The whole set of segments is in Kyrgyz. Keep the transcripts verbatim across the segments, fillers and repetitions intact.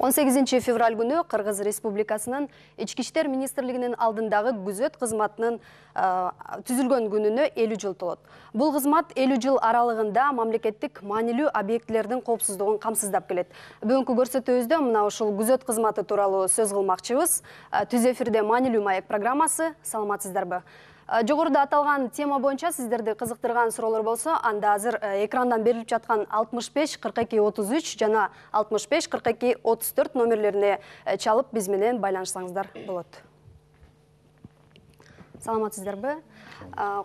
он сегизинчи февраль күнү Кыргыз Республикасынын Ички иштер министрлигинин алдындагы күзөт кызматынын түзүлгөн күнүнө элүү жыл толот. Бул кызмат элүү жыл аралыгында мамлекеттик маанилүү объектилердин коопсуздугун камсыздап келет. Бүгүнкү көрсөтүүбүздө мына ушул күзөт кызматы тууралуу сөз кылмакчыбыз. Түз эфирде маанилүү маек программасы. Саламатсыздарбы? Жогоруда аталган тема боюнча сиздерди кызыктырган суроолор болсо, анда азыр экрандан берилип жаткан алтымыш беш кырк эки отуз үч жана алтымыш беш кырк эки отуз төрт номерлерине чалып биз менен байланышсаңыздар болот. Саламатсыздарбы?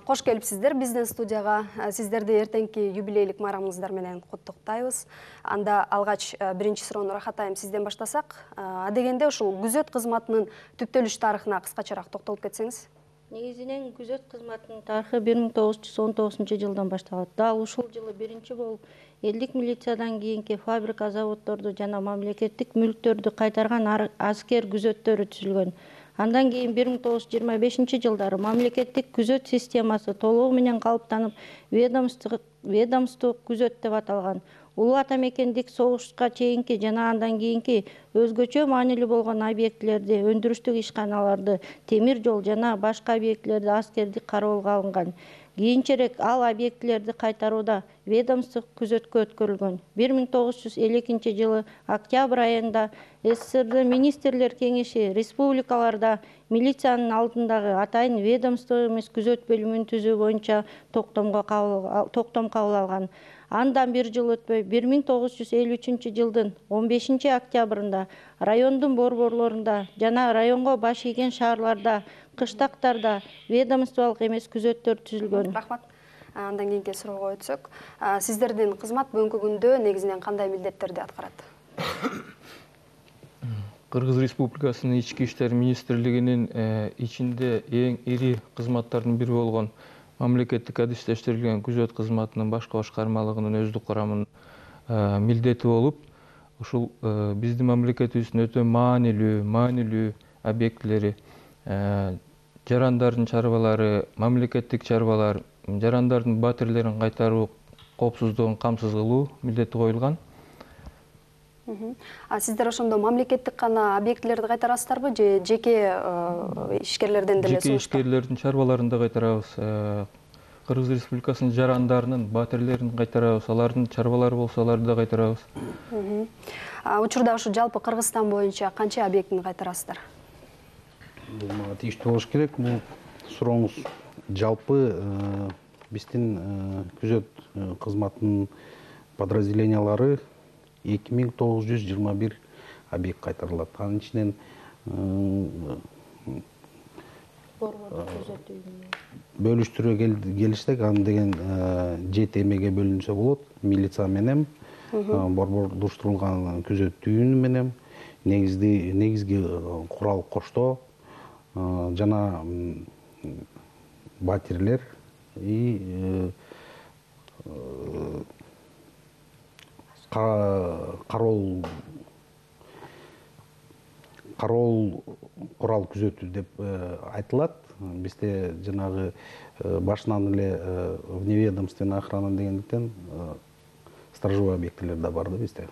Кош келипсиздер биздин студияга. Сиздерди эртеңки юбилейлик майрамыңыздар менен куттуктайбыз. Анда алгач биринчи суроону Рахатайым сизден баштасак, адегенде ушул күзөт кызматынын түптөлүш тарыхына кыскачараак токтолуп кетсеңиз. Негизинен күзөт кызматынын тарыхы бир миң тогуз жүз он тогузунчу жылдан башталат. Дал ушул жылы биринчи болуп элдик милициядан кийинки фабрика, заводдорду жана мамлекеттик мүлктөрдү кайтарган аскер күзөттөрү түзүлгөн. Андан кийин бир миң тогуз жүз жыйырма бешинчи жылдары мамлекеттик күзөт системасы толугу менен калыптанып, ведомство күзөт деп аталган. Улуу ата мекендик согушка чейинки жана андан кийинки өзгөчө маанилүү болгон объектилерди, өндүрүштүк ишканаларды, темир жол жана башка объектилерди аскердик кароолго алынган. Кийинчерээк ал объектилерди кайтарууда ведомство күзөткө өткөрүлгөн. бир миң тогуз жүз элүү экинчи жылы октябрь айында СССР министрлер кеңеши республикаларда милициянын алдындагы атайын ведомство эмес күзөт бөлүмүн түзүү боюнча токтомго токтом кабыл алган. Андан бир жыл өтпөй бир миң тогуз жүз элүү үчүнчү жылдын он бешинчи октябрында райондун борборлорунда жана районго баш ийген шаарларда, кыштактарда ведомстволук эмес күзөттөр түзүлгөн. Рахмат. Андан кийинки суроого өтсөк, сиздердин кызмат бүгүнкү күндө негизинен кандай милдеттерди аткарат? Кыргыз Республикасынын Ички иштер министрлигинин ичинде эң ири кызматтардын бири болгон мамлекеттик адистештирилген күзөт кызматынын башкы башкармалыгынын өздүк курамынын милдети болуп, ушул биздин мамлекетибиздин өтө маанилүү, маанилүү объектилери, жарандардын чарбалары, мамлекеттик чарбалар, жарандардын батирлерин кайтаруу коопсуздугун камсыз кылуу милдети коюлган. А сиздер ошондо мамлекеттик гана объектилерди кайтарасыздарбы же жеке ишкерлерден деле жеке ишкерлердин чарбаларын да кайтарабыз. Кыргыз Республикасынын жарандарынын батирлерин кайтарабыз, алардын чарбалары болсо аларды да кайтарабыз. Учурда ушу жалпы Кыргызстан боюнча канча объектини кайтарасыздар? Бул мага тийиштүү болуш керек. Бул сурооңуз жалпы биздин күзөт кызматынын подразделениялары эки миң тогуз жүз жыйырма бир объект кайтарылат. Анын ичинен бөлүштүрө келишсек, аны деген жети эмеге бөлүнсө болот. Милиция менен, борбордуштурулган күзөт түйүнү менен, негизги негизги курал коштоо жана батирлер и кароол кароол курал күзөтүү деп айтылат. Бизде жанагы башынан эле вневедомственная охрана дегендиктен сторожевой объектилер да бар да бизде.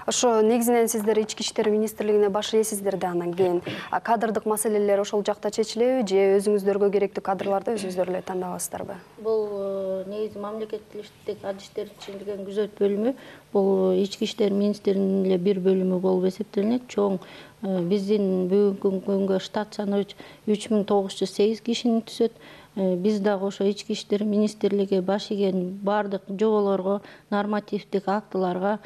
Ошо негизинен сиздер Ички иштер министрлигине баш ийесиздер да, анан кийин кадрдык маселелер ошол жакта чечилеби же өзүңүздөргө керектүү кадрларды өзүңүздөр эле тандабасыздарбы? Бул негизи мамлекеттик адистерди түзүлгөн күзөт бөлүмү бул Ички иштер министрлигинин эле бир бөлүмү болуп эсептелинет. Чоң биздин бүгүнкү күнгө штат саны үч миң тогуз жүз сегиз кишини түзөт. Биз дагы ошо Ички иштер министрлиги баш ийген бардык жоболорго, нормативдик актыларга,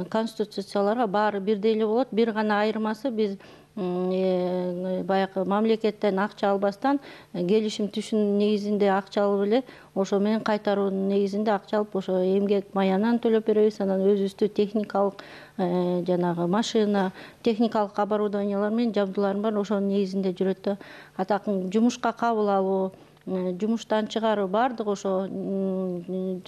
конституцияларга баары бирдей эле болот. Бир гана айырмасы биз баягы мамлекеттен акча албастан келишим түшүн негизинде акча алып эле ошо менен кайтаруунун негизинде акча алып ошо эмгек маянан төлөп беребиз. Анан өзүбүздү техникалык жанагы машина, техникалык оборудованиялар менен жабдууларым бар, ошонун негизинде жүрөт да. Атакын жумушка кабыл алуу, жумуштан чыгаруу баардык ошо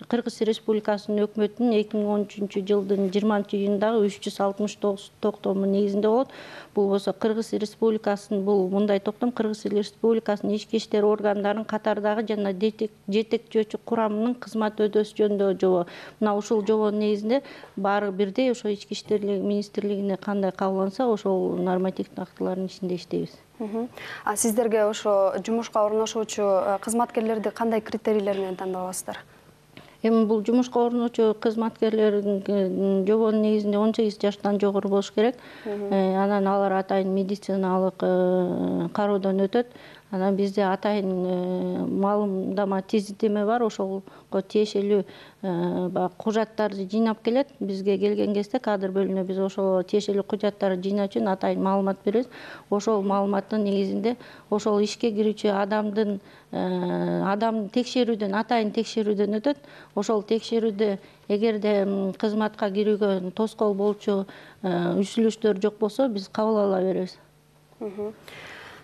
Кыргыз Республикасынын өкмөтүнүн эки миң он үчүнчү жылдын жыйырманчы июнундагы үч жүз алтымыш тогуз токтому негизинде болот. Бул болсо Кыргыз Республикасынын бул мындай токтом Кыргыз Республикасынын ички иштер органдарынын катардагы жана жетекчөөчү курамынын кызмат өтөөсү жөнүндөгү жобо. Мына ушул жобонун негизинде баары бирдей ошо ички иштер министрлигине кандай кабылданса ошол нормативдик актылардын ичинде иштейбиз. А сиздерге ошо жумушка орношуучу кызматкерлерди кандай критерийлер менен тандап аласыздар? Эми бул жумушка орночу кызматкерлердин жобонун негизинде он сегиз жаштан жогору болуш керек. Анан алар атайын медициналык кароодон өтөт. Анан бизде атайын маалымдама тизитеме бар, ошого тиешелүү баягы кужаттарды жыйнап келет. Бизге келген кезде кадр бөлүмүнө биз ошол тиешелүү кужаттарды жыйноо үчүн атайын маалымат беребиз. Ошол маалыматтын негизинде ошол ишке кирүүчү адамдын адам текшерүүдөн, атайын текшерүүдөн өтөт. Ошол текшерүүдө эгерде кызматка кирүүгө тоскоол болчу үзүлүштөр жок болсо, биз кабыл ала беребиз.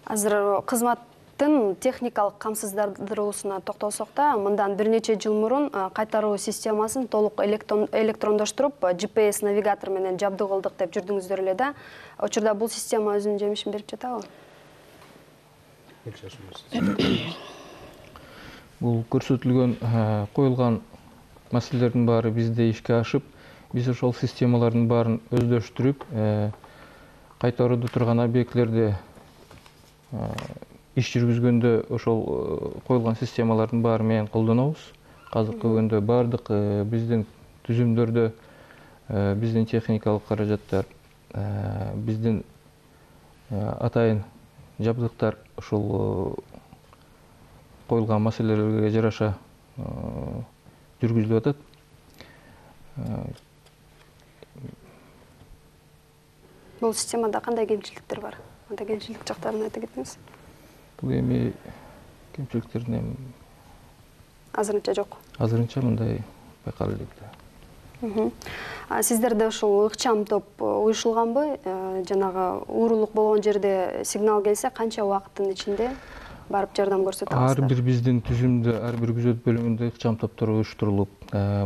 Азыр кызмат техникалык камсыздандыруусуна токтолсок да, мындан бир нече жыл мурун кайтаруу системасын толук электрондоштуруп, джи пи эс навигатор менен жабдуу кылдык деп жүрдүңүздөр эле да. Учурда бул система өзүнүн жемишин берип жатабы? Бул көрсөтүлгөн, коюлган маселелердин баары бизде ишке ашып, биз ошол системалардын баарын өздөштүрүп, кайтарууда турган объектлерди иш жүргүзгөндө ошол коюлган системалардын баары менен колдонобуз. Азыркы күндө баардык биздин түзүмдөрдө биздин техникалык каражаттар, биздин атайын жабдыктар ошол коюлган маселелерге жараша жүргүзүлүп атат. Бул системада кандай кемчиликтер бар? Анда кемчилик жактарын айта кетиңиз. Бул эми кемчиликтердин азырынча жок. Азырынча мындай байкалып элек. Сиздерде ушул ыкчам топ уюшулганбы? Жанагы уурулук болгон жерде сигнал келсе, канча убакыттын ичинде барып жардам көрсөтө аласыздар? Ар бир биздин түзүмдө, ар бир күзөт бөлүмүндө ыкчам топтор уюштурулуп,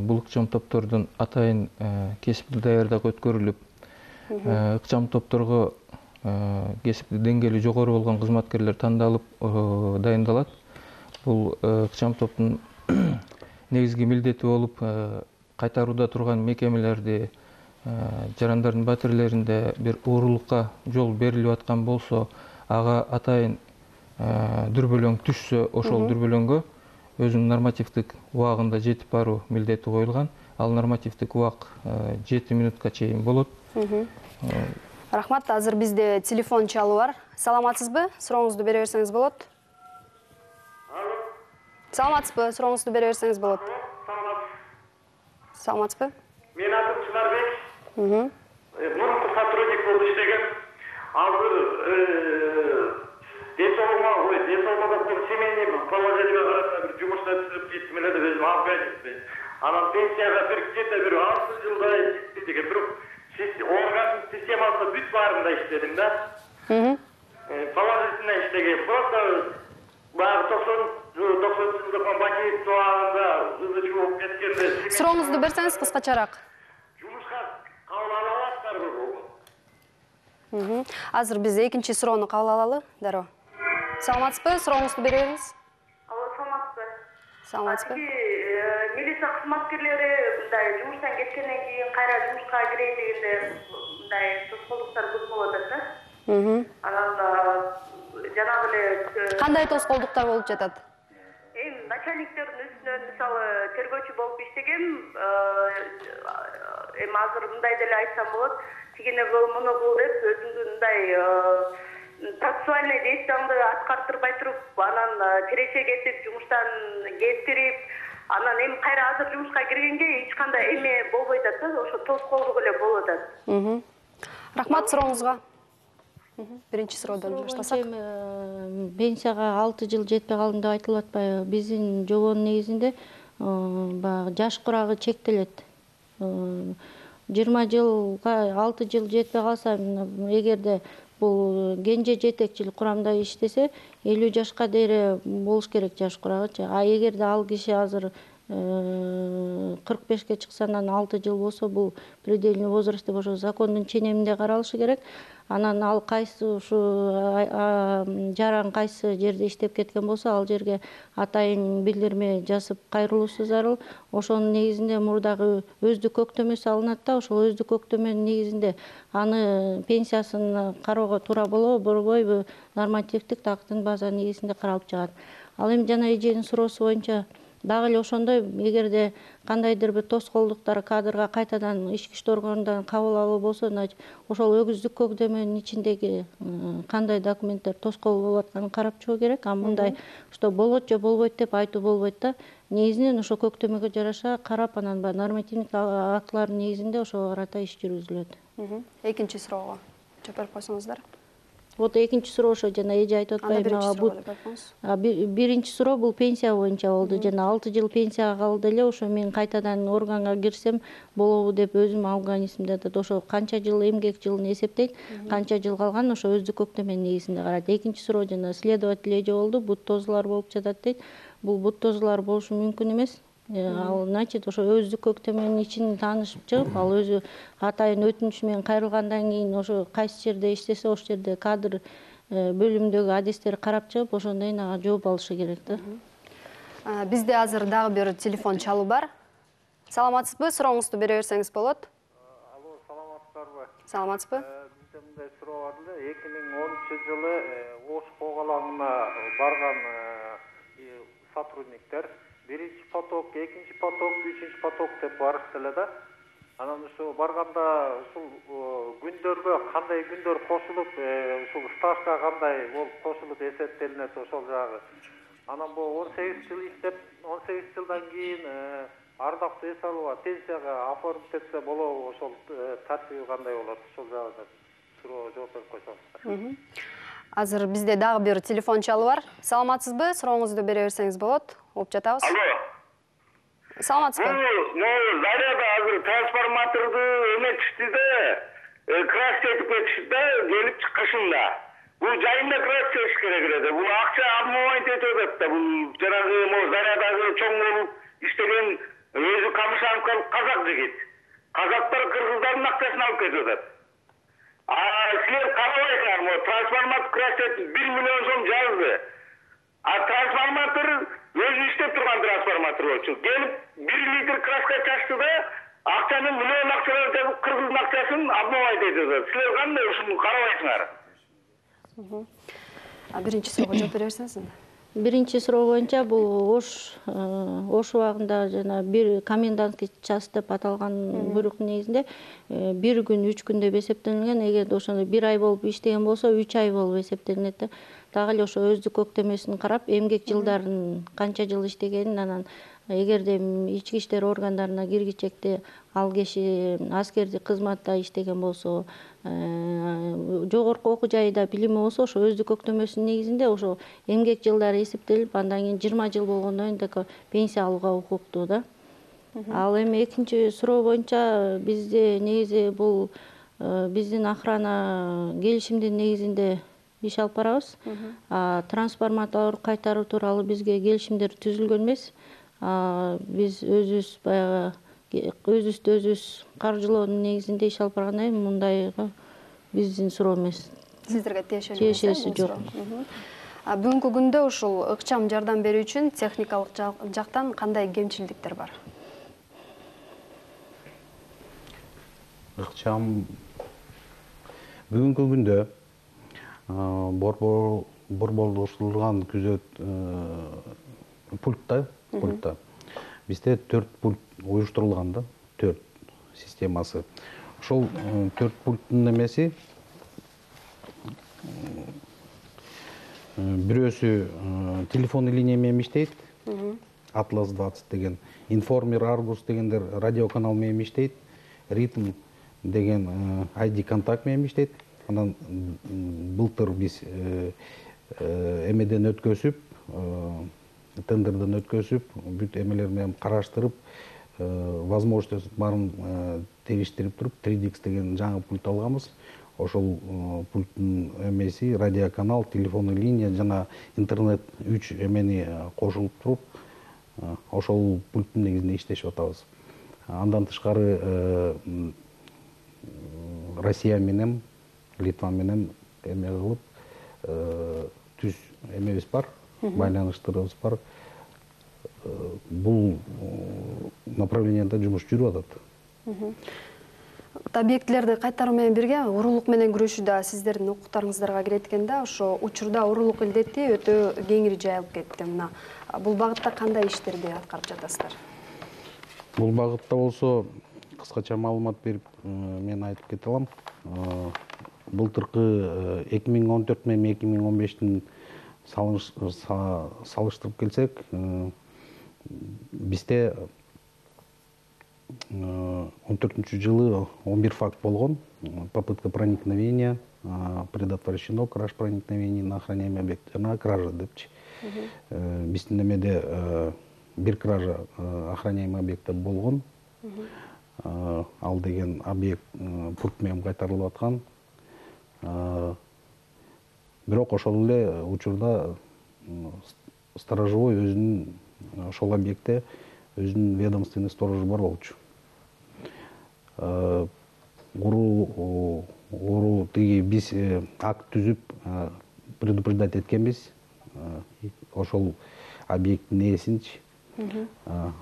бул ыкчам топтордун атайын кесиптик даярдыгы өткөрүлүп, ыкчам топторго кесиптик деңгээли жогору болгон кызматкерлер тандалып дайындалат. Бул ыкчам топтун негизги милдети болуп, кайтарууда турган мекемелерди, жарандардын батирлеринде бир уурулукка жол берилип аткан болсо, ага атайын дүрбөлөң түшсө, ошол дүрбөлөңгө өзүнүн нормативдик убагында жетип баруу милдети коюлган. Ал нормативдик убак жети минутка чейин болот. Рахмат, азыр бизде телефон чалуу бар. Саламатсызбы? Сурооңузду бере берсеңиз болот. Саламатсызбы? Сурооңузду бере берсеңиз болот. Саламатсызбы? Мен атым Чынарбек. Мурунку сотрудник болуп иштеген. Азыр десолма, ой, десолмада семейный положениеге карата бир жумушта түзүп кеттим эле деп өзүм алып келдим. Анан пенсияга бир где-то бир алты жылдай деген бирок орган системасы бүт баарында иштедим да. Положительно иштеген. Просто баягы токсон токсон жылдын бакет туагында ызычуу болуп кеткенде. Сурооңузду берсеңиз кыскачараак. Жумушка кабыл ала аласыздарбы? Азыр биз экинчи суроону кабыл алалы, дароо. Саламатсызбы? Сурооңузду бере бериңиз. Алло, саламатсызбы? Саламатсызбы? Милиция кызматкерлери мындай жумуштан кеткенден кийин кайра жумушка кирейин дегенде мындай тоскоолдуктар көп болуп атат да. Анан жанагы эле Кандай тоскоолдуктар болуп жатат? Эми начальниктердин үстүнөн мисалы тергөөчү болуп иштегем, эми азыр мындай деле айтсам болот. Тигине кыл, муну кыл деп өзүңдүн мындай процессуальный действияңды аткартырбай туруп, анан тирече кетип, жумуштан кеттирип, анан эми кайра азыр жумушка киргенге эч кандай эме болбой атат да, ошо тоскоолдук эле болуп атат. Рахмат сурооңузга. Биринчи суроодон баштасак. Пенсияга алты жыл жетпей калдым деп айтылып атпайбы? Биздин жобонун негизинде баягы жаш курагы чектелет. жыйырма жылга алты жыл жетпей калса, эгерде бул кенже жетекчилик курамда иштесе элүү жашка дейре болуш керек жаш курагычы. А эгерде ал киши азыр кырк бешке чыкса, анан алты жыл болсо, бул предельный возраст деп ошо закондун ченеминде каралышы керек. Анан ал кайсы ушу жаран кайсы жерде иштеп кеткен болсо, ал жерге атайын билдирме жазып кайрылуусу зарыл. Ошонун негизинде мурдагы өздүк көктөмөсү алынат да, ошол өздүк көктөмөнүн негизинде аны пенсиясын кароого туура болобу, болбойбу, нормативдик актын база негизинде каралып чыгат. Ал эми жана эженин суроосу боюнча дагы эле ошондой, эгерде кандайдыр бир тоскоолдуктар кадрга кайтадан ички иштер органдарынан кабыл алуу болсо, значит, ошол өгүздүк көктөмөнүн ичиндеги кандай документтер тоскоол болуп атканын карап чыгуу керек. А мындай что болот же болбойт деп айтуу болбойт да. Негизинен ошо көктөмөгө жараша карап, анан баягы нормативдик актылардын негизинде ошого карата иш жүргүзүлөт. Экинчи суроого жооп берип койсоңуздар. Вот экинчи суроо ошо жана эже айтып атпайбы, биринчи суроо бул пенсия боюнча болду. Жана алты жыл пенсияга калды эле, ошо мен кайтадан органга кирсем болобу деп өзүм алган эсимде атат. Ошо канча жыл эмгек жылын эсептейт, канча жыл калган ошо өздүк көктөмөнүн негизинде карайт. Экинчи суроо жана следователь эже болду, бут тозулар болуп жатат дейт. Бул бут тозулар болушу мүмкүн эмес. Ал значит ошо өздүк көктөмөнүн ичин таанышып чыгып, ал өзү атайын өтүнүч менен кайрылгандан кийин ошо кайсы жерде иштесе, ошол жерде кадр бөлүмүндөгү адистерди карап чыгып, ошондон кийин ага жооп алышы керек да. Бизде азыр дагы бир телефон чалуу бар. Саламатсызбы? Сурооңузду бере берсеңиз болот. Алло, саламатсыздарбы? Саламатсызбы? Бизде мындай суроо бар эле. эки миң онунчу жылы Ош когалаңына барган сотрудниктер биринчи поток, экинчи поток, үчүнчү поток деп барышты эле да. Анан ушул барганда ушул күндөргө кандай күндөр кошулуп, ушул стажга кандай болуп кошулуп эсептелинет ошол жагы. Анан бул он сегиз жыл иштеп, он сегиз жылдан кийин ардактуу эс алууга, пенсияга оформить этсе болобу, ошол тартиби кандай болот, ошол жагы суроо жооп берип койсоңуздар. Азыр бизде дагы бир телефон чалуу бар. Саламатсызбы? Сурооңузду бере берсеңиз болот. Угуп жатабыз. Алло. Саламатсызбы? Бул заряда азыр трансформаторду эметишти да, краска этип кетишти да, келип чыккышында. Бул жайында краска этиш керек эле. Бул акча обманывать этип атат да. Бул жанагы могу зарядагы чоң болуп иштеген өзү камышанкалык казак жигит. Казактар кыргыздардын акчасын алып кетип атат. А силер карабайсыңар, могу трансформатор краска бир миллион сом жазды. А трансформатор өзү иштеп турган трансформатор болчу. Келип бир литр краска чачты да, акчаны миллион акчалар жазып, кыргыздын акчасын обманывать этип атат. Силер кандай ушуну карабайсыңар? А биринчи суроого жооп бере берсеңиз. Биринчи суроо боюнча бул Ош Ош убагында жана бир комендантский час деп аталган буйруктун негизинде бир күн, үч күн деп эсептелинген. Эгерде ошондой бир ай болуп иштеген болсо, үч ай болуп эсептелинет да. Дагы эле ошо өздүк көктөмөсүн карап, эмгек жылдарын канча жыл иштегенин, анан эгерде ички иштер органдарына киргичекте ал киши аскердик кызматта иштеген болсо, жогорку окуу жайда билими болсо, ошо өздүк көктөмөсүнүн негизинде ошо эмгек жылдары эсептелип, андан кийин жыйырма жыл болгондон кийин пенсия алууга укуктуу да. Ал эми экинчи суроо боюнча бизде негизи бул биздин охрана келишимдин негизинде иш алып барабыз. Трансформатор кайтаруу тууралуу бизге келишимдер түзүлгөн эмес. Биз өзүбүз баягы өзүбүздү өзүбүз каржылоонун негизинде иш алып баргандан кийин мындайга биздин суроо эмес. Сиздерге тиешеси жок. Бүгүнкү күндө ушул ыкчам жардам берүү үчүн техникалык жактан кандай кемчилдиктер бар? Ыкчам бүгүнкү күндө борборлоштурулган күзөт пультта пультта бизде төрт пульт уюштурулган да, төрт системасы. Ошол төрт пульттун эмеси бирөөсү телефонный линия менен иштейт, Атлас двадцать деген, Информер, Аргус дегендер радиоканал менен иштейт, Ритм деген ай ди контакт менен иштейт. Анан былтыр биз эмеден өткөзүп, тендерден өткөзүп, бүт эмелер менен караштырып, возможностьтун баарын териштирип туруп, три ди икс деген жаңы пульт алганбыз. ошол пульттун эмеси радиоканал, телефонный линия жана интернет үч эмени кошулуп туруп ошол пульттун негизинде иштешип атабыз. Андан тышкары Россия менен, Литва менен эме кылып түз эмебиз бар, байланыштарыбыз бар. Бул направленияда жумуш жүрүп атат. Объектилерди кайтаруу менен бирге уурулук менен күрөшүү да сиздердин укуктарыңыздарга кирет экен да. Ошо учурда уурулук илдети өтө кеңири жайылып кетти. Мына бул багытта кандай иштерди аткарып жатасыздар? Бул багытта болсо кыскача маалымат берип мен айтып кете алам. Былтыркы эки миң он төрт менен эки миң он бештин салыштырып келсек, бизде он төртүнчү жылы он бир факт болгон. Попытка проникновения, предотвращено краж проникновений на охраняемый объект, жана кража депчи. Биздин эмеде бир кража охраняемый объектте болгон. Ал деген объект пульт менен кайтарылып аткан. Бирок ошол эле учурда сторожевой өзүнүн ошол объектте өзүнүн ведомственный сторожу бар болчу. Уруу уруу тиги биз акт түзүп предупреждать эткенбиз. Ошол объекттин ээсинчи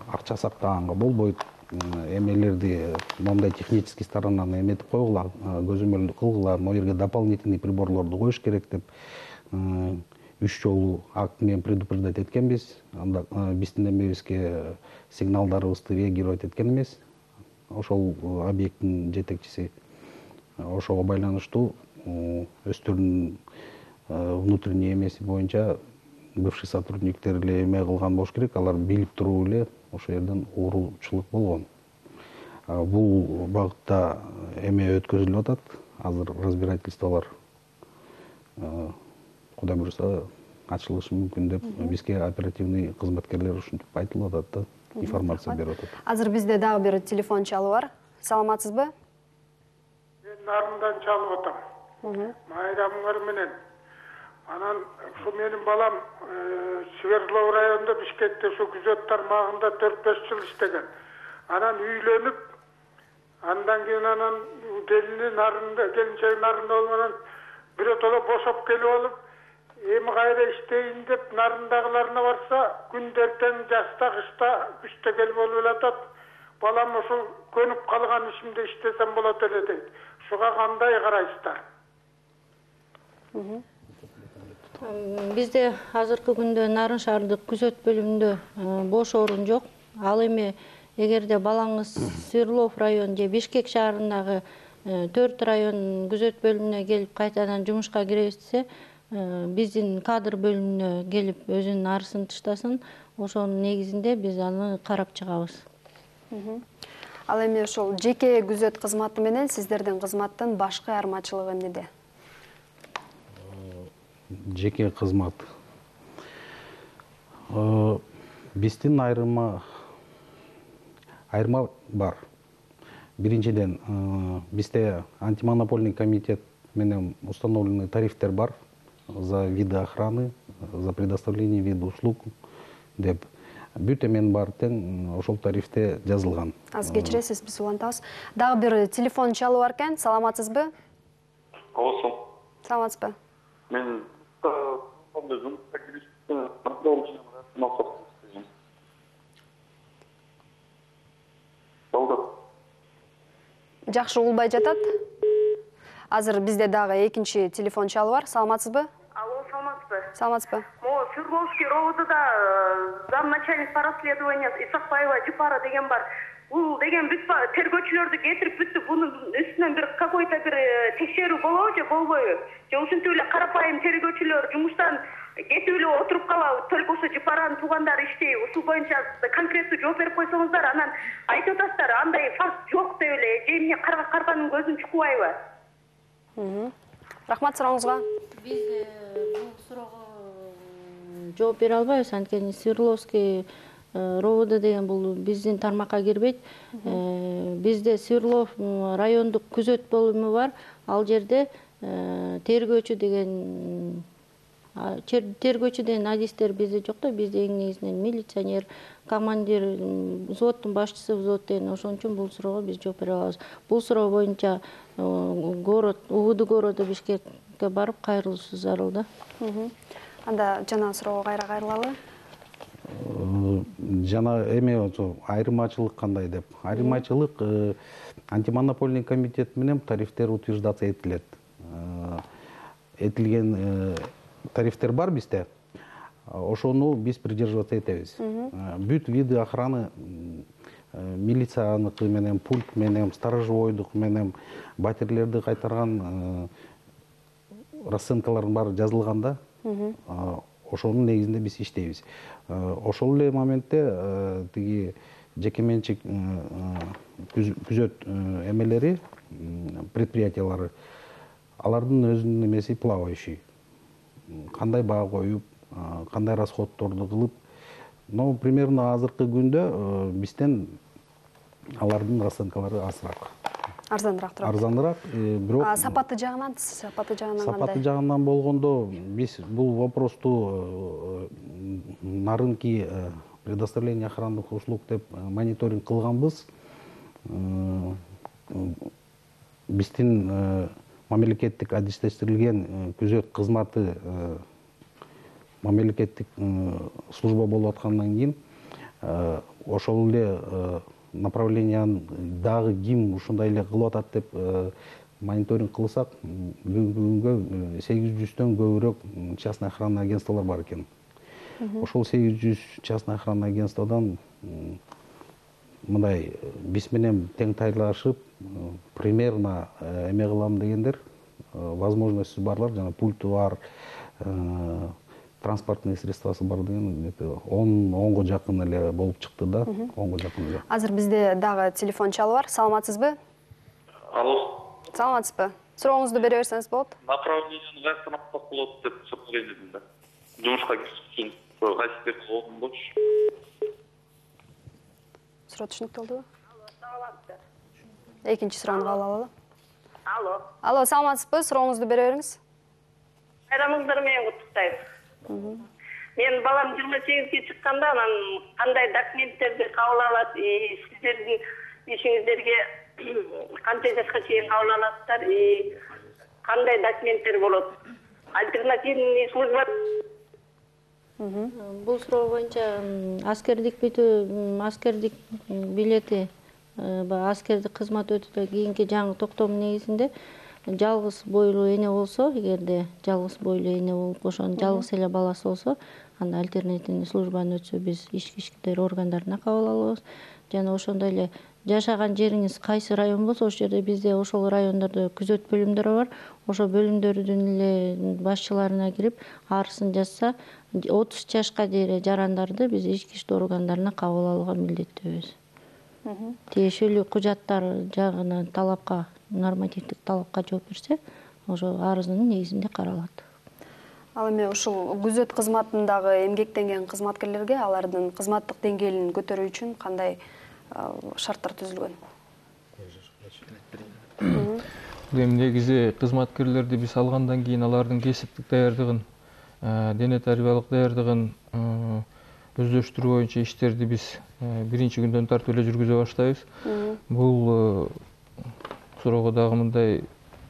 акча сактаганга болбойт. Эмелерди моундай технический сторонан эметип койгула, көзөмөлдү кылгыла, могу жерге дополнительный приборлорду коюш керек деп үч жолу акт менен предупреждать эткенбиз. Анда биздин эмебизге сигналдарыбызды реагировать эткен эмес. Ошол объекттин жетекчиси ошого байланыштуу өздөрүнүн внутренний эмеси боюнча бывший сотрудниктер эле эме кылган болуш керек. Алар билип туруп эле ошол жерден ууручулук болгон. Бул багытта эме өткөзүлүп атат. Азыр разбирательстволор Кудай буюрса ачылышы мүмкүн деп бизге оперативный кызматкерлер ушинтип айтылып атат да, информация берип атат. Азыр бизде дагы бир телефон чалуу бар. Саламатсызбы? Мен Нарындан чалып атам. Майрамыңар менен. Анан ушу менин балам Свердлов районунда Бишкекте ушу күзөт тармагында төрт беш жыл иштеген. Анан үйлөнүп, андан кийин анан келини Нарында, келинчеги Нарында болгондон биротоло бошоп келип алып, эми кайра иштейин деп Нарындагыларына барса, күндө эртең жазда, кышта, күчтө келип алып элатат. Балам ушул көнүп калган ишимде иштесем болот эле дейт. Ушуга кандай карайсыздар? Бизде азыркы күндө Нарын шаардык күзөт бөлүмүндө бош орун жок. Ал эми эгерде балаңыз Свердлов район же Бишкек шаарындагы төрт район күзөт бөлүмүнө келип кайтадан жумушка киребиз десе, биздин кадр бөлүмүнө келип өзүнүн арызын таштасын. Ошонун негизинде биз аны карап чыгабыз. Ал эми ошол жеке күзөт кызматы менен сиздердин кызматтын башкы айырмачылыгы эмнеде? Жеке кызмат. Биздин айырма айырма бар. Биринчиден, бизде антимонопольный комитет менен установленный тарифтер бар за виды охраны, за предоставление вида услуг деп. Бүт эмен бар тең ошол тарифте жазылган. Аз кечиресиз, биз улантабыз. Дагы бир телефон чалуу бар экен. Саламатсызбы? Алсам. Саламатсызбы? Мен жакшы угулбай жатат. Азыр бизде дагы экинчи телефон чалуу бар. Саламатсызбы? Алло, саламатсызбы? Саламатсызбы? Мо Свердловский ровдда замначальник по расследованию Исакбаева Жупара деген бар. Бул деген бүт тергөөчүлөрдү кетирип бүттү. Бунун үстүнөн бир какой-то бир текшерүү болобу же болбойбу? Же ушинтип эле карапайым тергөөчүлөр жумуштан кетип эле отуруп калабы? Только ошо Жупаранын туугандары иштей. Ушул боюнча конкреттүү жооп берип койсоңуздар, анан айтып атасыздар, андай факт жок деп эле. Же эмне карганын көзүн чукпайбы? Рахмат сурооңузга. Биз бул суроого жооп бере албайбыз, анткени Свердловский РОВД деген бул биздин тармакка кирбейт. Бизде Свердлов райондук күзөт бөлүмү бар. Ал жерде тергөөчү деген тергөөчү деген адистер бизде жок да. Бизде эң негизинен милиционер, командир, взводдун башчысы, взвод деген. Ошон үчүн бул суроого биз жооп бере алабыз. Бул суроо боюнча город УВД городу Бишкекке барып кайрылышы зарыл да. Анда жана суроого кайра кайрылалы. Жана эме айырмачылык кандай деп. Айырмачылык антимонопольный комитет менен тарифтер утверждация этилет. Этилген тарифтер бар бизде. Ошону биз придерживаться этебиз. Бүт виды охраны милицияныкы менен, пульт менен, сторожевойдук менен батирлерди кайтарган расценкалардын баары жазылган да. Ошонун негизинде биз иштейбиз. Ошол эле моментте тиги жеке менчик күзөт эмелери, предприятиялары, алардын өзүнүн эмеси плавающий. Кандай баа коюп, кандай расходторду кылып, но примерно азыркы күндө бизден алардын расценкалары азыраак. Арзаныраак турат. Арзаныраак, бирок сапаты жагынан, сапаты жагынан кандай? Сапаты жагынан болгондо биз бул вопросту нарынки предоставление охранных услуг деп мониторинг кылганбыз. Биздин мамлекеттик адистештирилген күзөт кызматы мамлекеттик служба болуп аткандан кийин ошол эле направленияны дагы ким ушундай эле кылып атат деп мониторинг кылсак, бүгүнкү күнгө сегиз жүздөн көбүрөөк частный охранный агентстволор бар экен. Ошол сегиз жүз частный охранный агентстводан мындай биз менен тең тайлашып, примерно эме кылам дегендер, возможностьсу барлар, жана пульту бар, транспортный средствосы бар деген онго жакын эле болуп чыкты да. онго жакын эле. Азыр бизде дагы телефон чалы бар. Саламатсызбы? Алло. Саламатсызбы? Сурооңузду бере берсеңиз болот. Направлениени кайрадан алсак болот деп сураган элем да. Жумушка кириш үчүн кайсы жерге болгон болчу? Суроо түшүнүктүү болдубу? Экинчи суроону кабыл алалы. Алло. Алло, саламатсызбы? Сурооңузду бере бериңиз. Байрамыңыздар менен куттуктайм. Мен балам жыйырма сегизге чыкканда анан кандай документтерди кабыл алат, сиздердин ишиңиздерге канча жашка чейин кабыл аласыздар, кандай документтер болот? Альтернативный служба. Бул суроо боюнча аскердик бүтүү, аскердик билети, аскердик кызмат өтүүдөн кийинки жаңы токтом негизинде жалгыз бойлуу эне болсо, эгерде жалгыз бойлуу эне болуп, ошонун жалгыз эле баласы болсо, анда альтернативный службаны өтсө биз ички иштер органдарына кабыл алабыз. Жана ошондой эле жашаган жериңиз кайсы район болсо, ошол жерде бизде ошол райондордо күзөт бөлүмдөрү бар. Ошол бөлүмдөрдүн эле башчыларына кирип, арызын жазса, отуз жашка дейре жарандарды биз ички иштер органдарына кабыл алууга милдеттүүбүз. Тиешелүү кужаттар жагынан талапка, нормативдик талапка жооп берсе, ошо арызынын негизинде каралат. Ал эми ушул күзөт кызматындагы эмгектенген кызматкерлерге алардын кызматтык деңгээлин көтөрүү үчүн кандай шарттар түзүлгөн? Эми негизи кызматкерлерди биз алгандан кийин алардын кесиптик даярдыгын, дене тарбиялык даярдыгын өздөштүрүү боюнча иштерди биз биринчи күндөн тартып эле жүргүзө баштайбыз. Бул суроого дагы мындай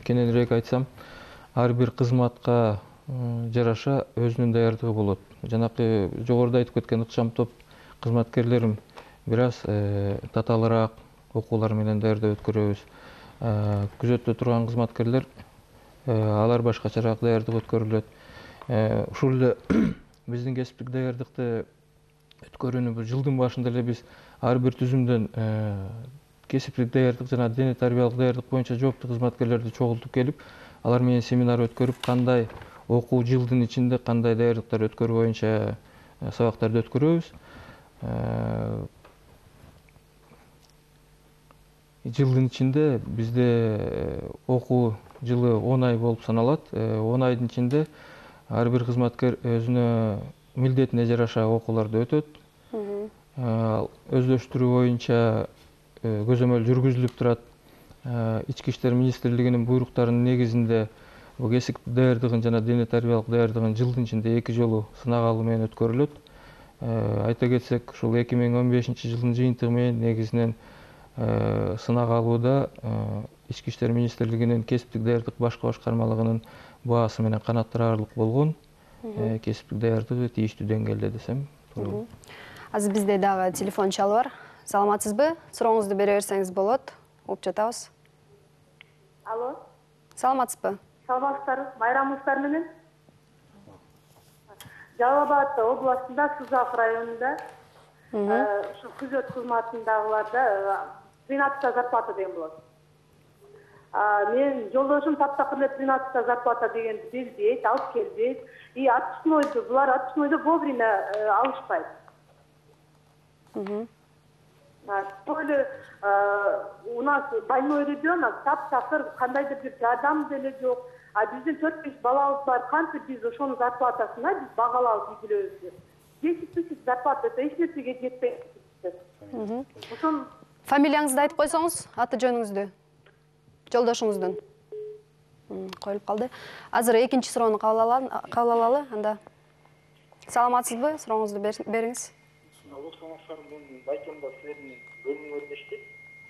кененирээк айтсам, ар бир кызматка жараша өзүнүн даярдыгы болот. Жанакы жогоруда айтып кеткен ыкчам топ кызматкерлерим бир аз татаалыраак окуулар менен даярдап өткөрөбүз. Күзөттө турган кызматкерлер алар башкачараак даярдык өткөрүлөт. Ушул эле биздин кесиптик даярдыкты өткөрүүнү бул жылдын башында эле биз ар бир түзүмдөн кесиптик даярдык жана дене тарбиялык даярдык боюнча жооптуу кызматкерлерди чогултуп келип, алар менен семинар өткөрүп, кандай окуу жылдын ичинде кандай даярдыктар өткөрүү боюнча сабактарды өткөрөбүз. Жылдын ичинде бизде окуу жылы он ай болуп саналат. он айдын ичинде ар бир кызматкер өзүнө милдетине жараша окууларды өтөт. өздөштүрүү боюнча көзөмөл жүргүзүлүп турат. Ички иштер министрлигинин буйруктарынын негизинде бул кесип даярдыгын жана дене тарбиялык даярдыгын жылдын ичинде эки жолу сынак алуу менен өткөрүлөт. Айта кетсек, ушул эки миң он бешинчи жылдын жыйынтыгы менен негизинен сынак алууда Ички иштер министрлигинин кесиптик даярдык башкы башкармалыгынын баасы менен канааттанарлык болгон. Кесиптик даярдыгы тийиштүү деңгээлде десем туура. Азыр бизде дагы телефон чалуу бар. Саламатсызбы? Сурооңузду бере берсеңиз болот. Угуп жатабыз. Алло. Саламатсызбы? Саламатсыздарбы? Майрамыңыздар менен. Жалал Абад областында Сузак районунда ушу күзөт кызматындагыларда тринадцатая зарплата деген болот. Мен жолдошум таптакыр эле тринадцатая зарплата дегенди билбейт, алып келбейт. И отпускнойду, булар отпускнойду вовремя алышпайт. Толе у нас больной ребенок, таптакыр кандайдыр бир жардам деле жок. А биздин төрт беш балабыз бар, кантип биз ошонун зарплатасына биз багалап үй бүлөбүздү. десять тысяч зарплата, это эч нерсеге жетпейт. Ошон фамилияңызды айтып койсоңуз, аты жөнүңүздү. Жолдошуңуздун. Коюлуп калды. Азыр экинчи суроону кабыл алалы, анда. Саламатсызбы? Сурооңузду бериңиз. Алло, саламатсыздар. Мен Байкемда силердин бөлүмүңөрдө иштейт.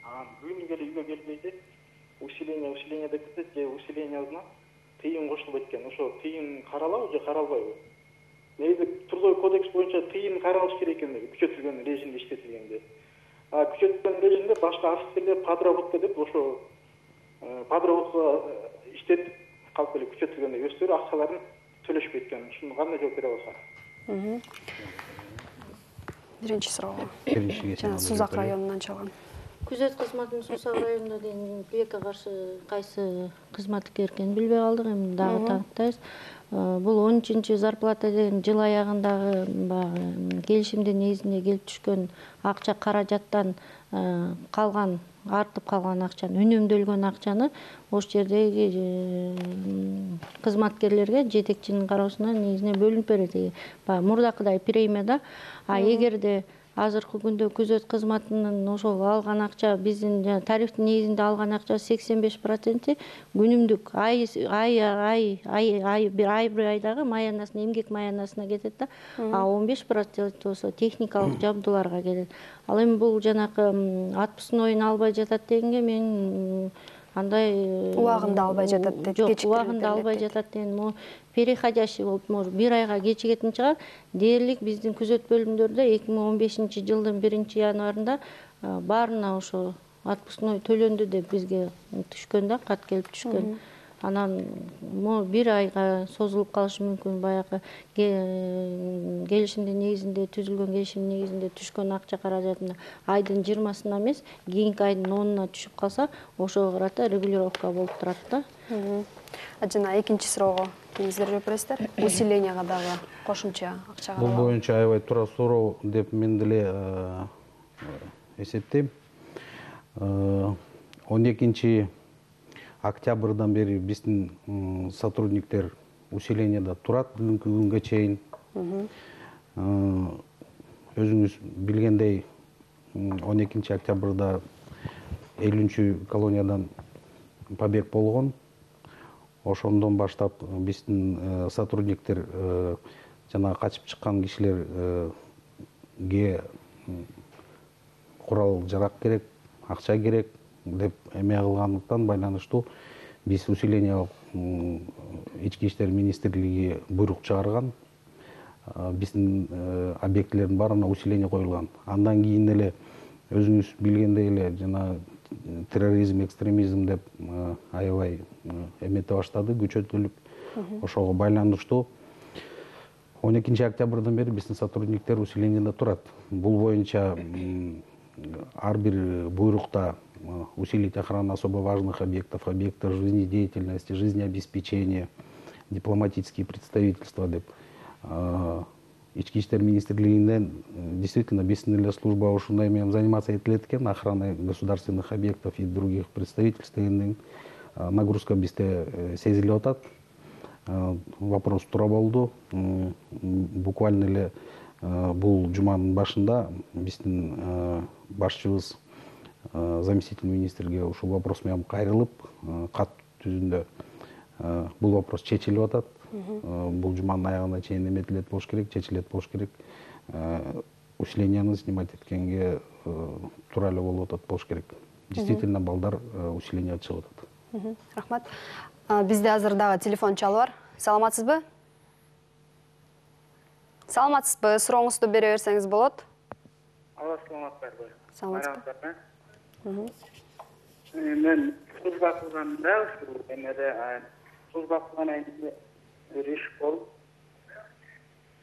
Анан күнүгө эле үйгө келбейди. Усиление, усиление деп кетет, же усилениесине тыйын кошулбайт экен. Ошо тыйын каралабы же каралбайбы? Негизи трудовой кодекс боюнча тыйын каралыш керек экен, күчөтүлгөн режимде иштетилгенде. А күчөтүлгөн режимде башка офицерлер подработка деп ошо подработка иштетип калып эле күчөтүлгөндө өздөрү акчаларын төлөшпөйт экен. Ушуну кандай жооп бере аласыздар? Биринчи суроого. Жана Сузак районунан чалган. Күзөт кызматынын Сузак районунда деген тилекке каршы кайсы кызматкер экенин билбей калдык, эми дагы танктайбыз. Бул он үчүнчү зарплата деген жыл аягындагы баягы келишимдин негизинде келип түшкөн акча каражаттан калган, артып калган акчаны, үнөмдөлгөн акчаны ош жердеги кызматкерлерге жетекчинин кароосуна негизинен бөлүнүп берет. Баягы мурдакыдай премияда. А эгерде азыркы күндө күзөт кызматынын ошол алган акча биздин тарифтин негизинде алган акча сексен беш проценти күнүмдүк ай ай ай ай ай бир ай бир айдагы маянасына, эмгек маянасына кетет да. А он беш процент болсо техникалык жабдууларга кетет. Ал эми бул жанакы отпускнойун албай жатат дегенге мен андай убагында албай жатат деп жок, убагында албай жатат деген могу переходящий болуп, может бир айга кечигетин чыгар. Дээрлик биздин күзөт бөлүмдөрдө эки миң он бешинчи жылдын биринчи январында баарына ошо отпускной төлөндү деп бизге түшкөн да, кат келип түшкөн. Анан могу бир айга созулуп калышы мүмкүн. Баягы келишимдин негизинде түзүлгөн келишимдин негизинде түшкөн акча каражатына айдын жыйырмасына эмес, кийинки айдын онуна түшүп калса, ошого карата регулировка болуп турат да. Жана экинчи суроого кимиздер жооп бересиздер? Усилениега дагы кошумча акча каралат. Бул боюнча аябай туура суроо деп мен деле эсептейм. он экинчи октябрдан бери биздин сотрудниктер усилениеда турат бүгүнкү күнгө чейин. Өзүңүз билгендей, он экинчи октябрда элүүнчү колониядан побег болгон. Ошондон баштап биздин сотрудниктер жана качып чыккан кишилерге курал жарак керек, акча керек деп эме кылгандыктан байланыштуу биз усиление ички иштер министрлиги буйрук чыгарган. Биздин объектилердин баарына усиление коюлган. Андан кийин эле өзүңүз билгендей эле жана терроризм, экстремизм деп аябай эмете баштады, күчөтүлүп. Ошого байланыштуу он экинчи октябрдан бери биздин сотрудниктер усилениеда турат. Бул боюнча ар бир буйрукта усилить охрану особо важных объектов, объектов жизнедеятельности, жизнеобеспечения, дипломатические представительства деп ички иштер министрлигинен действительно биздин эле служба ушундай менен заниматься этилет экен, охраной государственных объектов и других представительств дегенден нагрузка бизде сезилип атат. Вопрос туура болду. Буквально эле бул жуманын башында биздин башчыбыз заместитель министрге ушул вопрос менен кайрылып кат түзүндө бул вопрос чечилип атат. Бул жуманын аягына чейин эметилет болуш керек, чечилет болуш керек. Усилениени снимать эткенге туура эле болуп атат болуш керек. Действительно балдар усиление чыгып атат. Рахмат. Бизде азыр дагы телефон чалып бар. Саламатсызбы? Саламатсызбы? Сурооңузду бере берсеңиз болот. Алла саламатсызбы. Саламатсызбы. Мен служба кылганда ушул эмеде служба кылган айында бир иш болуп,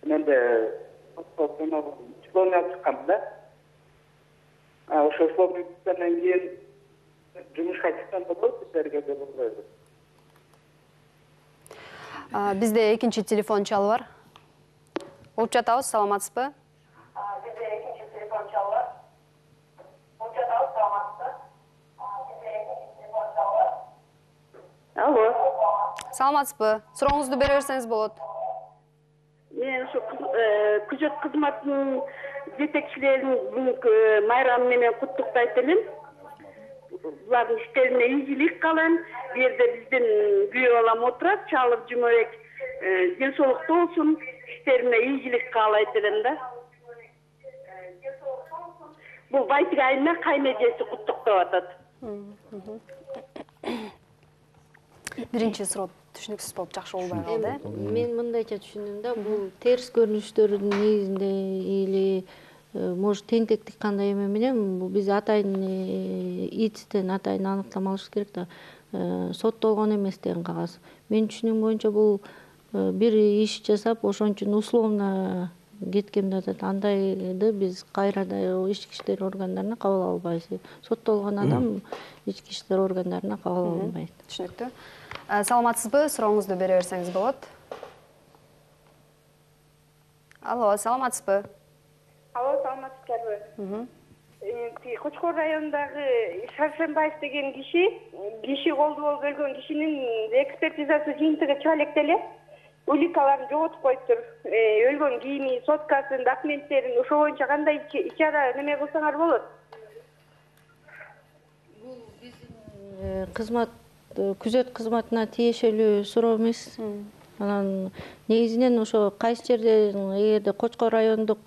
менде диплом алып чыккам да. Ошо диплом алгандан кийин жумушка чыккан болот, сиздерге деп ойлойм. Бизде экинчи телефон чалып бар. Угуп жатабыз, саламатсызбы? Бизде экинчи телефон чалып бар. Угуп жатабыз, саламатсызбы? Бизде экинчи телефон чалып бар. Алло. Саламатсызбы? Сурооңузду бере берсеңиз болот. Мен ушу күзөт кызматынын жетекчилерин бүгүнкү майрамы менен куттуктайт элем. Булардын иштерине ийгилик каалайм. Бу жерде биздин күйөө балам отурат, Чалып Жумабек. Ден соолуктуу болсун, иштерине ийгилик каалайт элем да. Бул Байтик айына кайнэжеси куттуктап атат. Биринчи суроо түшүнүксүз болуп жакшы болбой калды. Мен мындайча түшүндүм да, бул терс көрүнүштөрдүн негизинде или может тентектик кандай эме менен бул биз атайын ИЦтен атайын аныктама алышыбыз керек да. Соттолгон эмес деген кагаз. Мен түшүнүм боюнча бул бир иш жасап ошон үчүн условно кеткен деп атат. Андайды биз кайра да ички иштер органдарына кабыл албайбыз. Соттолгон адам ички иштер органдарына кабыл алынбайт. Түшүнүктүү. Саламатсызбы? Сурооңузду бере берсеңиз болот. Алло, саламатсызбы? Алло, саламатсыздарбы? Кочкор районундагы Шаршембаев деген киши, киши колду болуп өлгөн кишинин экспертизасы жыйынтыгы чыга электе эле. Уликаларын жоготуп коюптур. Өлгөн кийими, соткасын, документтерин ошо боюнча кандай иш-чара неме кылсаңар болот? Бул биздин кызмат күзөт кызматына тиешелүү суроо эмес. Анан негизинен ошо кайсы жерде эгерде Кочкор райондук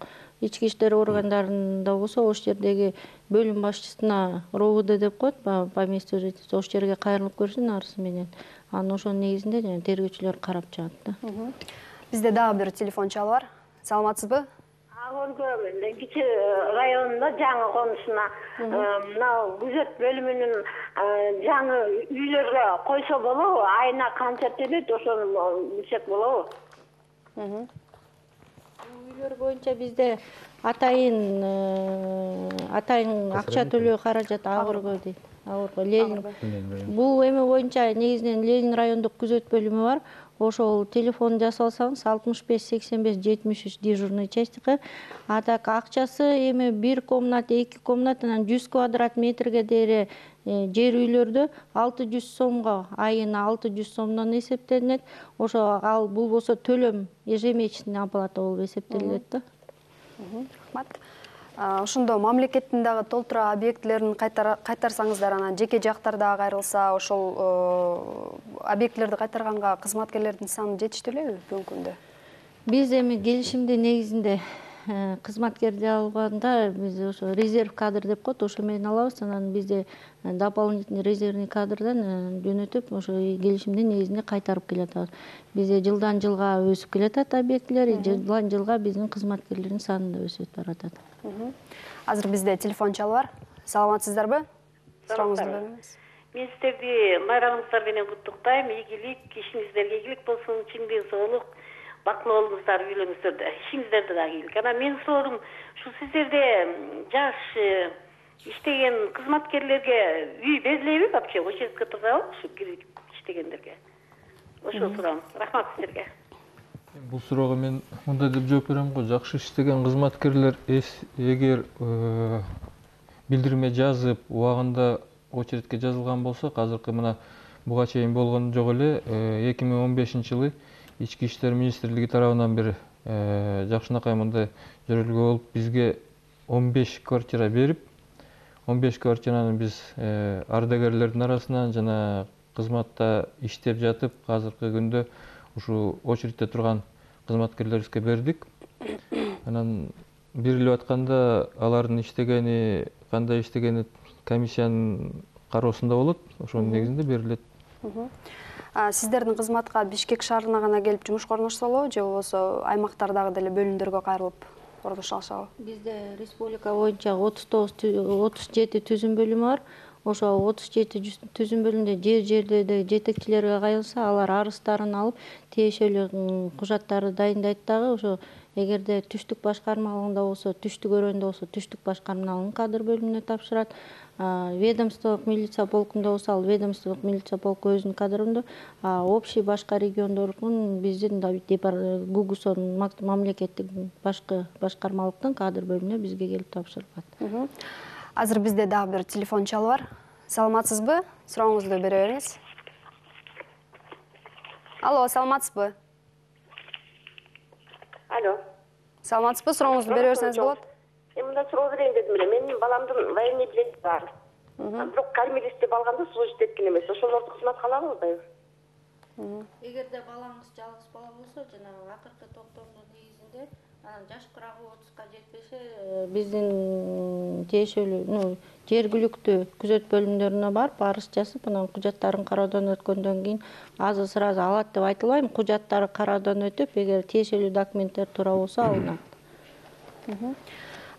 ички иштер органдарында болсо, ошол жердеги бөлүм башчысына РОУД деп коет, по месту жительства, ошол жерге кайрылып көрсүн арызы менен. Анан ошонун негизинде жана тергөөчүлөр карап чыгат да. Бизде дагы бир телефон чалып бар. Саламатсызбы? Өлгө кичи районунда жаңы конусуна мына күзөт бөлүмүнүн жаңы үйлөргө койсо болобу? Айына канча төлөйт, ошону билсек болобу? Үйлөр боюнча бизде атайын атайын акча төлөө каражат Агыргө дейт. Агыргө Ленин. Бул эме боюнча негизинен Ленин райондук күзөт бөлүмү бар. Ошол телефон жасап алсаңыз алтымыш беш сексен беш жетимиш үч дежурный частька. А так акчасы эми бир комната, эки комната, анан жүз квадрат метрге дейре жер үйлөрдө алты жүз сомго, айына алты жүз сомдон эсептелинет. Ошо ал бул болсо төлөм ежемесячный оплата болуп эсептелет да. Рахмат. Ошондо мамлекеттин дагы толтура объектилерин кайтарсаңыздар, анан жеке жактарда кайрылса, ошол объектилерди кайтарганга кызматкерлердин саны жетиштүү элеби бүгүнкү күндө? Биз эми келишимдин негизинде кызматкерди алганда биз ошо резерв кадр деп коет, ошо менен алабыз. Анан бизде дополнительный резервный кадрдан жөнөтүп, ошо келишимдин негизинде кайтарып келатабыз. Бизде жылдан жылга өсүп келатат объектилер, жылдан жылга биздин кызматкерлердин саны да өсүп баратат. Азыр бизде телефон чалып бар. Саламатсыздарбы? Сурооңузду бериңиз. Мен сиздерди майрамыңыздар менен куттуктайм. Ийгилик, ишиңиздерге ийгилик болсун, чындык, соолук, бактылуу болуңуздар, үйлөрүңүздөрдө. Ишиңиздерде дагы ийгилик. Анан менин суроом, ушу сиздерде жаш иштеген кызматкерлерге үй берилеби вообще? Очередке турабы ушу кирип иштегендерге? Ошо суроом. Рахмат сиздерге. Бул суроого мен мындай деп жооп берем го. Жакшы иштеген кызматкерлер эгер билдирме жазып, убагында очередке жазылган болсо, азыркы мына буга чейин болгон жок эле, эки миң он бешинчи жылы Ички иштер министрлиги тарабынан бир жакшынакай мындай жөрөлгө болуп бизге он беш квартира берип, он беш квартираны биз ардагерлердин арасынан жана кызматта иштеп жатып, азыркы күндө ушу очередте турган кызматкерлерибизге бердик. Анан берилип атканда алардын иштегени, кандай иштегени комиссиянын кароосунда болот. Ошонун негизинде берилет. Сиздердин кызматка Бишкек шаарына гана келип жумушка орношсолобу, же болбосо аймактардагы деле бөлүмдөргө кайрылып орношо алышабы? Бизде республика боюнча отуз тогуз отуз жети түзүм бөлүмү бар. Ошо отуз жети түзүм бөлүмдө жер жерлерде жетекчилерге кайрылса, алар арыздарын алып, тиешелүү кужаттарды дайындайт дагы. Ошо эгерде түштүк башкармалыгында болсо, түштүк өрөөндө болсо, түштүк башкармалыгынын кадр бөлүмүнө тапшырат. Ведомстволук милиция полкунда болсо, ал ведомстволук милиция полку өзүнүн кадрында, общий башка региондордун биздин ГУГУСОнун мамлекеттик башкы башкармалыктын кадр бөлүмүнө бизге келип тапшырылат. Азыр бизде дагы бир телефон чалы бар. Саламатсызбы? Сурооңузду бере бериңиз. Алло, саламатсызбы? Алло. Саламатсызбы? Сурооңузду бере берсеңиз болот. Мындай суроо берейин дедим эле. Менин баламдын военный билети бар. Бирок кормилист деп алганда служить эткен эмес. Ошолорду кызматка алабы, албайбы? Эгерде балаңыз жалгыз бала болсо, жанагы акыркы токтомдун негизинде анан жаш курагы отузга жетпесе, биздин тиешелүү, ну, жергиликтүү күзөт бөлүмдөрүнө барып, арыз жазып, анан кужаттарын кароодон өткөндөн кийин азыр сразу алат деп айтылбайм, кужаттары кароодон өтүп, эгер тиешелүү документтер туура болсо алынат.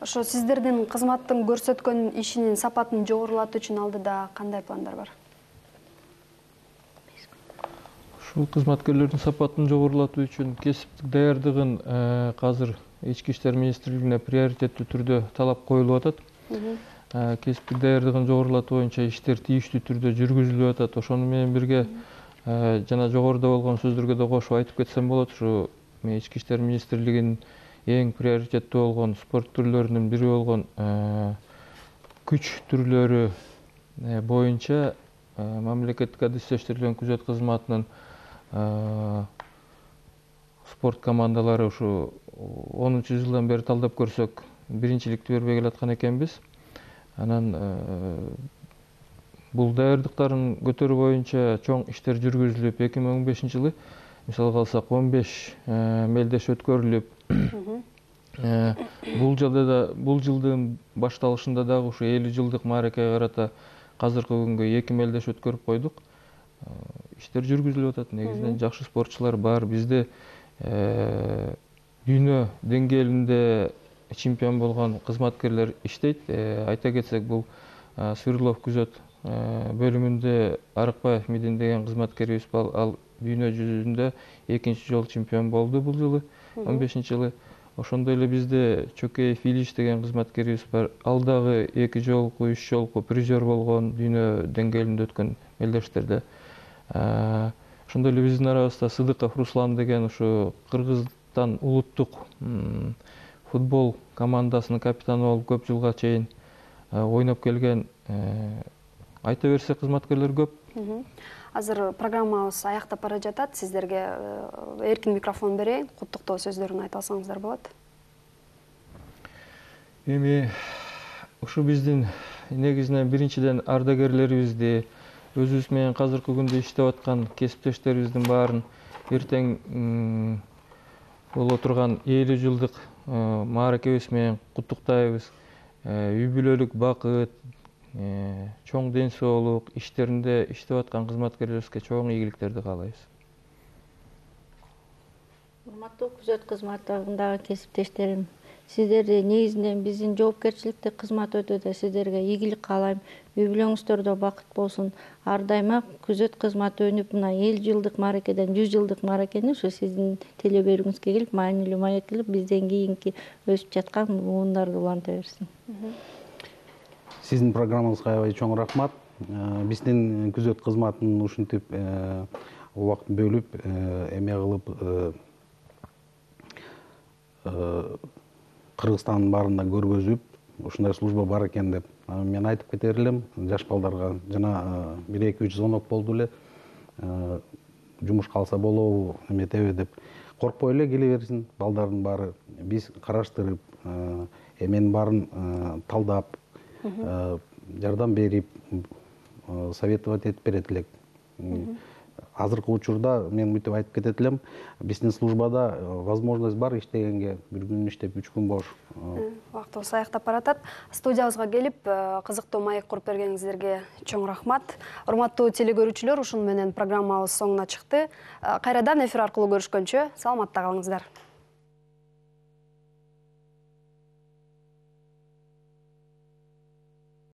Ошо сиздердин кызматтын көрсөткөн ишинин сапатын жогорулатуу үчүн алдыда кандай пландар бар? Ушул кызматкерлердин сапатын жогорулатуу үчүн кесиптик даярдыгын азыр Ички иштер министрлигине приоритеттүү түрдө талап коюлуп атат. Кесиптик даярдыгын жогорулатуу боюнча иштер тийиштүү түрдө жүргүзүлүп атат. Ошону менен бирге жана жогоруда болгон сөздөргө да кошуп айтып кетсем болот. Ушу Ички иштер министрлигинин эң приоритеттүү болгон спорт түрлөрүнүн бири болгон күч түрлөрү боюнча мамлекеттик адистештирилген күзөт кызматынын спорт командалары ушу онунчу жылдан бери талдап көрсөк биринчиликти бербей келаткан экенбиз. Анан бул даярдыктарын көтөрүү боюнча чоң иштер жүргүзүлүп, эки миң он бешинчи жылы мисалга алсак он беш мелдеш өткөрүлүп, бул жылда да бул жылдын башталышында дагы ушу элүү жылдык мааракеге карата азыркы күнгө эки мелдеш өткөрүп койдук. Иштер жүргүзүлүп атат. Негизинен жакшы спортчулар бар. Бизде дүйнө деңгээлинде чемпион болгон кызматкерлер иштейт. Айта кетсек, бул Свердлов күзөт бөлүмүндө Арыкбаев Мидин деген кызматкерибиз бар. Ал дүйнө жүзүндө экинчи жолу чемпион болду бул жылы, он бешинчи жылы. Ошондой эле бизде Чөкеев Илиш деген кызматкерибиз бар. Ал дагы эки жолку, үч жолку призер болгон дүйнө деңгээлинде өткөн мелдештерде. Ошондой эле биздин арабызда Сыдыков Руслан деген ушу Кыргызстан улуттук футбол командасынын капитаны болуп көп жылга чейин ойноп келген. Айта берсек, кызматкерлер көп. Азыр программабыз аяктап бара жатат. Сиздерге эркин микрофон берейин. Куттуктоо сөздөрүн айта алсаңыздар болот. Эми ушу биздин негизинен биринчиден ардагерлерибизди, өзүбүз менен азыркы күндө иштеп аткан кесиптештерибиздин баарын эртең боло турган элүү жылдык мааракебиз менен куттуктайбыз. Үй бүлөлүк бакыт, чоң ден соолук, иштеринде иштеп аткан кызматкерлерибизге чоң ийгиликтерди каалайбыз. Урматтуу күзөт кызматындагы кесиптештерим, сиздерди негизинен биздин жоопкерчиликтүү кызмат өтөдө сиздерге ийгилик каалайм. Үй бүлөңүздөрдө бакыт болсун. Ар дайыма күзөт кызматы өнүп, мына элүү жылдык мааракеден жүз жылдык мааракени ушу сиздин теле берүүңүзгө келип, маанилүү маек кылып, бизден кийинки өсүп жаткан муундарды уланта берсин. Сиздин программаңызга аябай чоң рахмат. Биздин күзөт кызматынын ушинтип убакыт бөлүп, эме кылып Кыргызстандын баарында көргөзүп, ушундай служба бар экен деп мен айтып кетер элем. Жаш балдарга жана бир эки үч звонок болду эле. Жумушка алса болобу, эметеби деп коркпой эле келе берсин балдардын баары. Биз караштырып, эменин баарын талдап, жардам берип, советовать этип берет элек. Азыркы учурда мен мынтип айтып кетет элем, биздин службада возможность бар иштегенге, бир күн иштеп, үч күн бош. Убактыбыз аяктап баратат. Студиябызга келип, кызыктуу маек куруп бергениңиздерге чоң рахмат. Урматтуу телекөрүүчүлөр, ушуну менен программабыз соңуна чыкты. Кайрадан эфир аркылуу көрүшкөнчө саламатта калыңыздар.